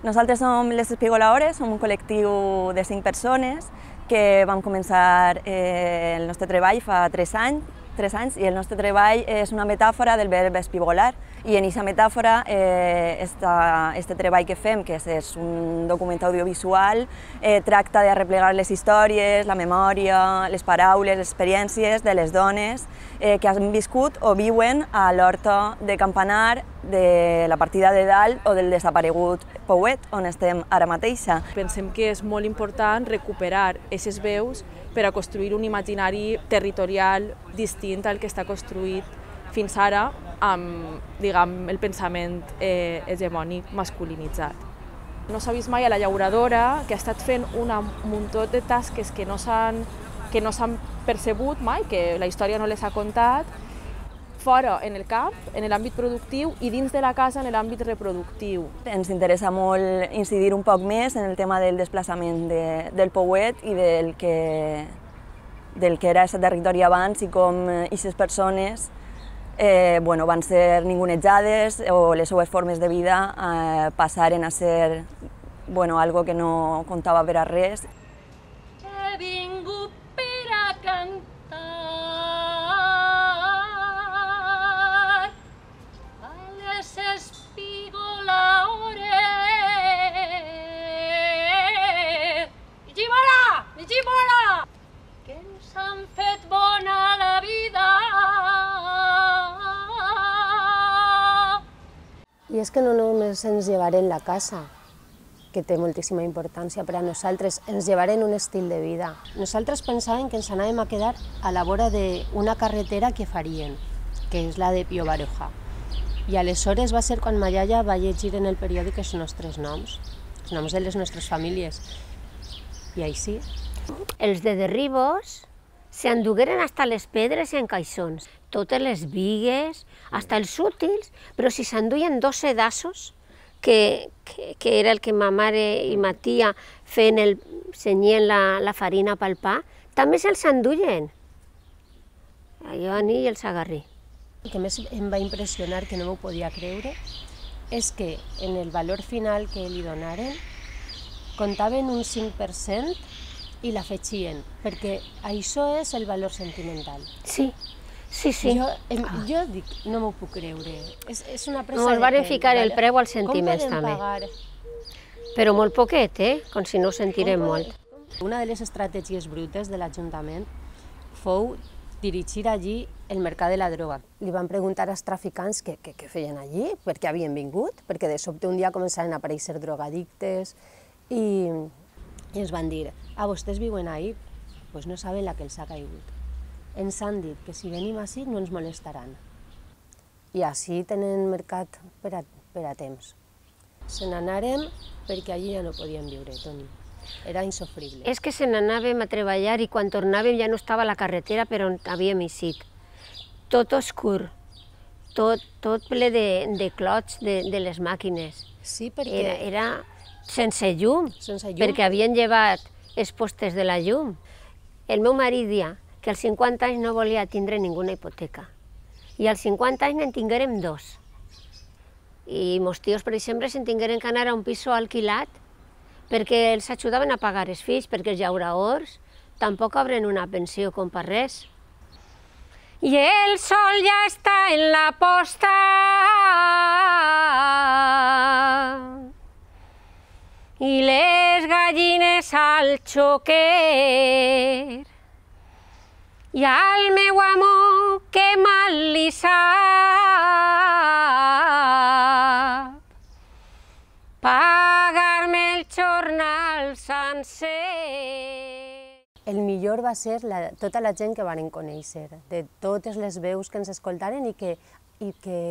Nosaltres som les Espigoladores, som un col·lectiu de 5 persones que vam començar el nostre treball fa 3 anys i el nostre treball és una metàfora del verb espigolar i en aquesta metàfora este treball que fem, que és un document audiovisual, tracta d'arreplegar les històries, la memòria, les paraules, les experiències de les dones que han viscut o viuen a l'horta de Campanar, de la partida de dalt o del desaparegut Pouet, on estem ara mateixa. Pensem que és molt important recuperar aquestes veus per a construir un imaginari territorial distint al que està construït fins ara amb, diguem, el pensament hegemònic masculinitzat. No s'ha vist mai a la llauradora, que ha estat fent un muntó de tasques que no s'han percebut mai, que la història no les ha contat, fora en el camp, en l'àmbit productiu i dins de la casa en l'àmbit reproductiu. Ens interessa molt incidir un poc més en el tema del desplaçament del Pouet i del que era aquest territori abans i com aquestes persones van ser ningunejades o les seues formes de vida passaren a ser algo que no comptava per a res. He vingut per a cantar a les Espigoladores. Vigimola! Que ens han fet bona la vida. I és que no només ens llevarem la casa, que té moltíssima importància per a nosaltres, ens llevarem un estil de vida. Nosaltres pensàvem que ens anàvem a quedar a la vora d'una carretera que farien, que és la de Pío Baroja. I aleshores va ser quan ma iaia va llegir en el periòdic els nostres noms, els noms de les nostres famílies. I així. Els de Derribos s'endugueren hasta les pedres en caixons, totes les bigues, hasta els útils, però si s'enduien 2 sedassos, que era el que ma mare i ma tia senyien la farina pel pa, també se'ls enduien. Allò i el sagarrí. El que més em va impressionar, que no m'ho podia creure, és que en el valor final que li donaren comptaven un 5% i l'afegien, perquè això és el valor sentimental. Sí. Jo dic, no m'ho puc creure. És una presa no, els varen ficar el preu als sentiments també. Pagar? Però molt poquet, com si no ho sentirem molt. Una de les estratègies brutes de l'Ajuntament fou dirigir allí el mercat de la droga. Li van preguntar als traficants què feien allí, per què havien vingut, perquè de sobte un dia començaren a aparèixer drogadictes i ens van dir, vostès viuen ahí? Pues no saben la que els ha caigut. Ens han dit que si venim així no ens molestaran. I així tenen mercat per a temps. Se n'anàrem perquè allí ja no podíem viure, Toni. Era insofrible. És que se n'anàvem a treballar i quan tornàvem ja no estava la carretera per on havíem eixit. Tot oscur, tot ple de clots de les màquines. Sí, perquè... Era sense llum, perquè havien llevat els postes de la llum. El meu marit dia que als 50 anys no volia tindre ninguna hipoteca. I als 50 anys en tinguérem 2. I mos tios, per exemple, se'n tingueren que anar a un pis alquilat perquè els ajudaven a pagar els fills, perquè els llauradors tampoc obren una pensió com per res. I el sol ja està en la posta i les gallines al xoquer. I al meu amor que mal li sap pagar-me el jornal sencer. El millor va ser tota la gent que varen conèixer, de totes les veus que ens escoltaren i que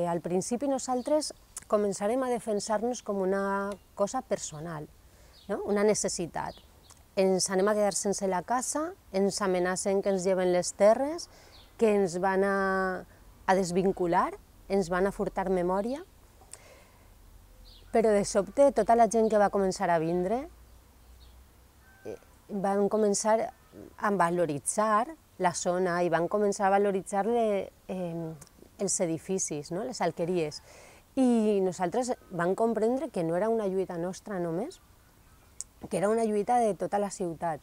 al principi nosaltres començarem a defensar-nos com una cosa personal, una necessitat. Ens anem a quedar sense la casa, ens amenacen que ens lleven les terres, que ens van a desvincular, ens van a furtar memòria. Però de sobte tota la gent que va començar a vindre van començar a valoritzar la zona i van començar a valoritzar els edificis, les alqueries. I nosaltres vam comprendre que no era una lluita nostra només, que era una lluita de tota la ciutat.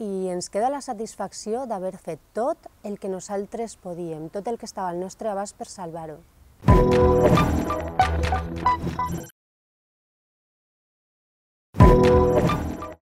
I ens queda la satisfacció d'haver fet tot el que nosaltres podíem, tot el que estava al nostre abast per salvar-ho.